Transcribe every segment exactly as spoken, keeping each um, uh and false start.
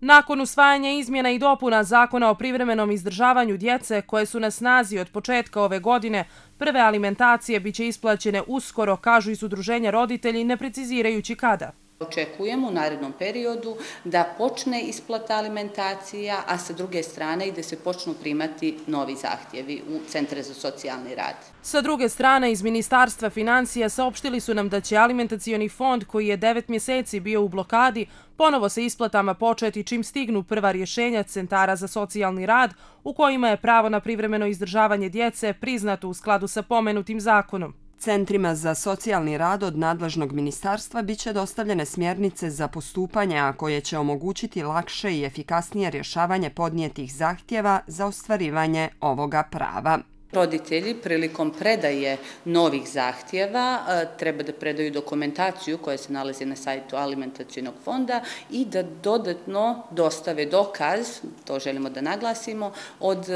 Nakon usvajanja izmjena i dopuna Zakona o privremenom izdržavanju djece koje su na snazi od početka ove godine, prve alimentacije biće isplaćene uskoro, kažu iz udruženja roditelji, ne precizirajući kada. Očekujemo u narednom periodu da počne isplata alimentacija, a sa druge strane i da se počnu primati novi zahtjevi u Centre za socijalni rad. Sa druge strane, iz Ministarstva financija saopštili su nam da će alimentacioni fond, koji je devet mjeseci bio u blokadi, ponovo sa isplatama početi čim stignu prva rješenja Centara za socijalni rad, u kojima je pravo na privremeno izdržavanje djece priznato u skladu sa pomenutim zakonom. Centrima za socijalni rad od nadležnog ministarstva biće dostavljene smjernice za postupanja koje će omogućiti lakše i efikasnije rješavanje podnijetih zahtjeva za ostvarivanje ovoga prava. Roditelji prilikom predaje novih zahtjeva treba da predaju dokumentaciju koja se nalazi na sajtu alimentacionog fonda i da dodatno dostave dokaz, to želimo da naglasimo, od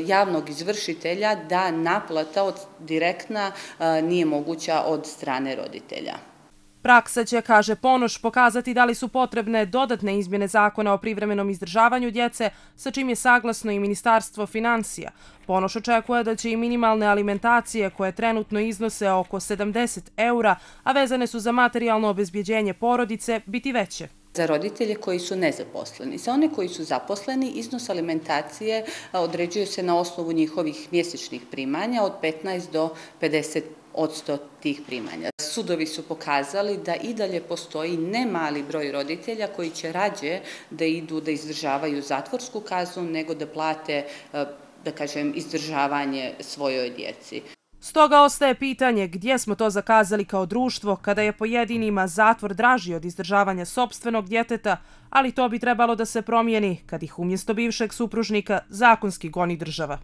javnog izvršitelja da naplata od direktna nije moguća od strane roditelja. Praksa će, kaže Ponoš, pokazati da li su potrebne dodatne izmjene Zakona o privremenom izdržavanju djece, sa čim je saglasno i Ministarstvo financija. Ponoš očekuje da će i minimalne alimentacije, koje trenutno iznose oko sedamdeset eura, a vezane su za materijalno obezbjeđenje porodice, biti veće. Za roditelje koji su nezaposleni. Za one koji su zaposleni, iznos alimentacije određuje se na osnovu njihovih mjesečnih primanja od petnaest do pedeset odsto tih primanja. Sudovi su pokazali da i dalje postoji ne mali broj roditelja koji će rađe da idu da izdržavaju zatvorsku kaznu nego da plate, da kažem, izdržavanje svojoj djeci. Stoga ostaje pitanje gdje smo to zakazali kao društvo kada je pojedinima zatvor draži od izdržavanja sopstvenog djeteta, ali to bi trebalo da se promijeni kad ih umjesto bivšeg supružnika zakonski goni država.